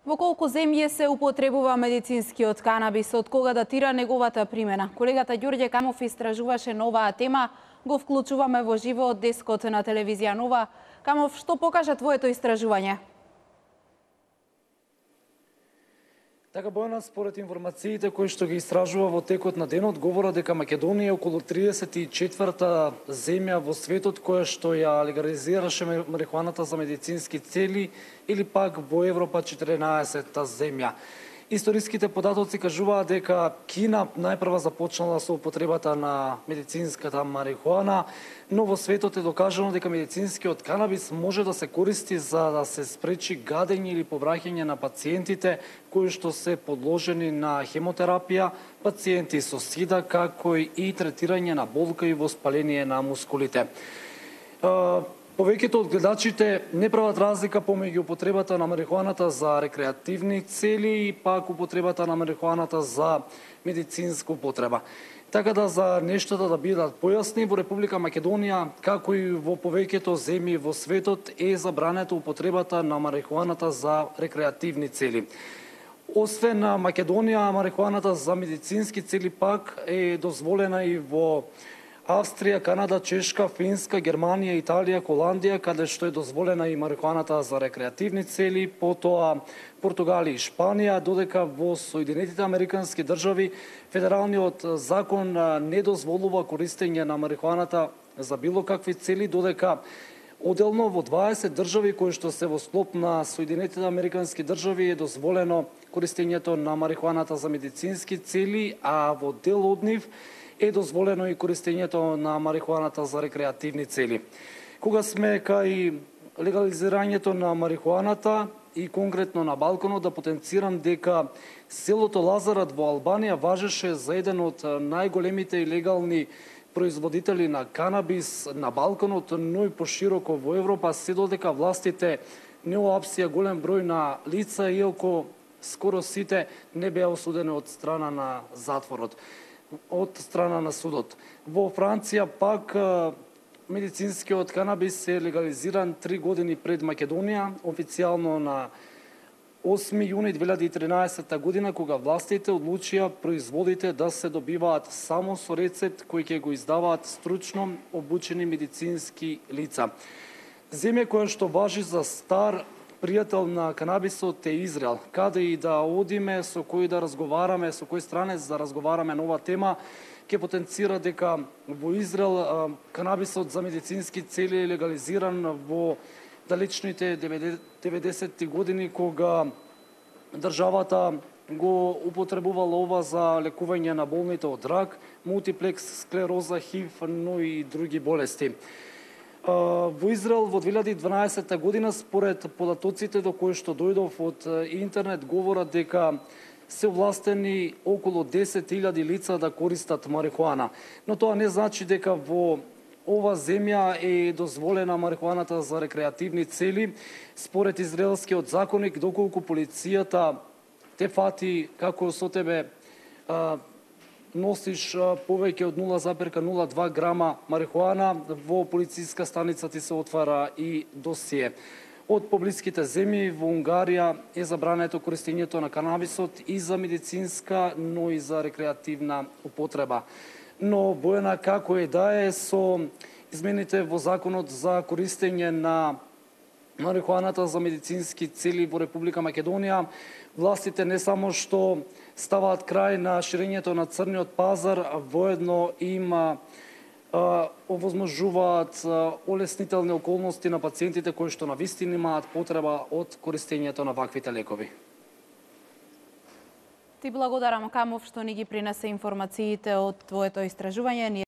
Во колку земји се употребува медицинскиот канабис, од кога датира неговата примена? Колегата Ѓорѓе Камов истражуваше на оваа тема, го вклучуваме во живо од дескот на телевизија Нова. Камов, што покажа твоето истражување? Така, Бојана, според информациите кои што ги истражува во текот на денот, говорат дека Македонија е околу 34-та земја во светот која што ја легализираше марихуаната за медицински цели, или пак во Европа 14-та земја. Историските податоци кажуваат дека Кина најпрва започнала со употребата на медицинската марихуана, но во светот е докажано дека медицинскиот канабис може да се користи за да се спречи гадење или повраќање на пациентите кои што се подложени на хемотерапија, пациенти со сида, како и третирање на болка и воспаление на мускулите. Повеќето од гледачите не прават разлика помеѓу употребата на марихуаната за рекреативни цели и пак употребата на марихуаната за медицинска употреба. Така да за нештата да бидат појасни, во Република Македонија, како и во повеќето земји во светот, е забранета употребата на марихуаната за рекреативни цели. Освен на Македонија, марихуаната за медицински цели пак е дозволена и во Австрија, Канада, Чешка, Финска, Германија, Италија, Холандија, каде што е дозволена и марихуаната за рекреативни цели, потоа Португалија и Шпанија, додека во Соединетите Американски држави федералниот закон не дозволува користење на марихуаната за било какви цели, додека одделно во 20 држави кои што се во склоп на Соединетите Американски држави е дозволено користењето на марихуаната за медицински цели, а во дел од нив е дозволено и користењето на марихуаната за рекреативни цели. Кога сме кај легализирањето на марихуаната и конкретно на Балканот, да потенцирам дека селото Лазарат во Албанија важеше за еден од најголемите и легални производители на канабис на Балканот, но и пошироко во Европа, се додека властите не уапсија голем број на лица, иако скоро сите не беа осудени од страна на затворот, од страна на судот. Во Франција пак медицинскиот канабис е легализиран 3 години пред Македонија, официјално на 8 јуни 2013 година, кога властите одлучија производите да се добиваат само со рецепт кој ќе го издаваат стручно обучени медицински лица. Земја која што важи за стар пријател на канабисот е Израел. Каде и да одиме, со кој да разговараме, со кој странец да разговараме на оваа тема, ќе потенцира дека во Израел канабисот за медицински цели е легализиран во далечните 90-ти години, кога државата го употребувала ова за лекување на болните од рак, мултиплекс склероза, ХИВ, но и други болести. Во Израел во 2012 година, според податоците до кои што дојдов од интернет, говорат дека се овластени околу 10.000 лица да користат марихуана. Но тоа не значи дека во ова земја е дозволена марихуаната за рекреативни цели. Според израелскиот законник, доколку полицијата те фати како со тебе носиш повеќе од 0,02 грама марихуана, во полициска станица ти се отвара и досие. Од поблиските земји во Унгарија е забрането користењето на канабисот и за медицинска, но и за рекреативна употреба. Но Бојана, како е да е, со измените во законот за користење на марихуаната за медицински цели во Република Македонија, властите не само што ставаат крај на ширењето на црниот пазар, воедно им овозможуваат олеснителни околности на пациентите кои што навистина имаат потреба од користењето на ваквите лекови. Ти благодарам, Камов, што ни ги принесе информациите од твоето истражување.